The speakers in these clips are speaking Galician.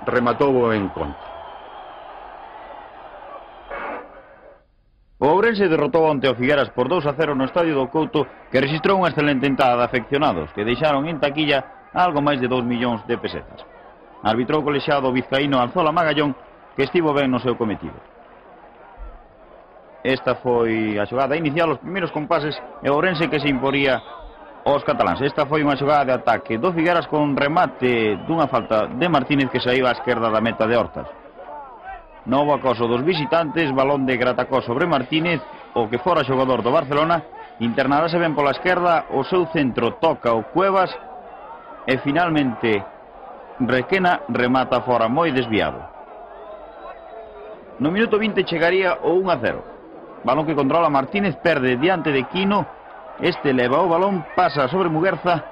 rematou o encontro. O Ourense derrotou onte o Figueras por 2-0 no Estadio do Couto, que registrou unha excelente entrada de afeccionados, que deixaron en taquilla algo máis de 2 millóns de pesetas. Arbitrou o colexiado vizcaíno Alzola Magallón, que estivo ben no seu cometido. Esta foi a xogada inicial, os primeiros compases, e o Ourense que se imporía aos cataláns. Esta foi unha xogada de ataque do Figueras con remate dunha falta de Martínez que saíba á esquerda da meta de Hortas. Novo acoso dos visitantes, balón de Gratacó sobre Martínez, o que fora xogador do Barcelona, internarase ben pola esquerda, o seu centro toca o Cuevas, e finalmente Requena remata fora moi desviado. No minuto 20 chegaría o 1-0. Balón que controla Martínez, perde diante de Quino, este leva o balón, pasa sobre Muguerza,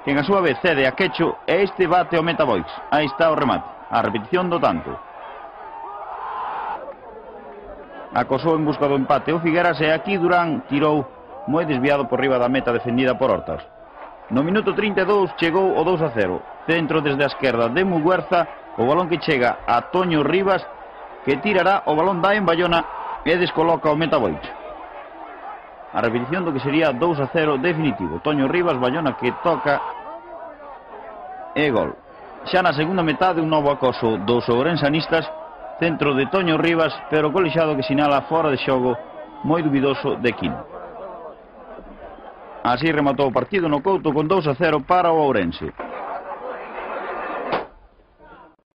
que en a súa vez cede a Quecho, e este bate o meta Boix. Aí está o remate, a repetición do tanto. Acosou en busca do empate o Figueras, e aquí Durán tirou moi desviado por riba da meta defendida por Hortas. No minuto 32 chegou o 2-0. Centro desde a esquerda de Muguerza, o balón que chega a Toño Rivas, que tirará o balón da en Bayona e descoloca o meta Boix. A repetición do que sería 2-0 definitivo. Toño Rivas, Bayona que toca e gol. Xa na segunda metade un novo acoso dos ourensanistas, centro de Toño Rivas, pero colexado que sinala fora de xogo moi dubidoso de Quino. Así rematou o partido no Couto con 2-0 para o Ourense.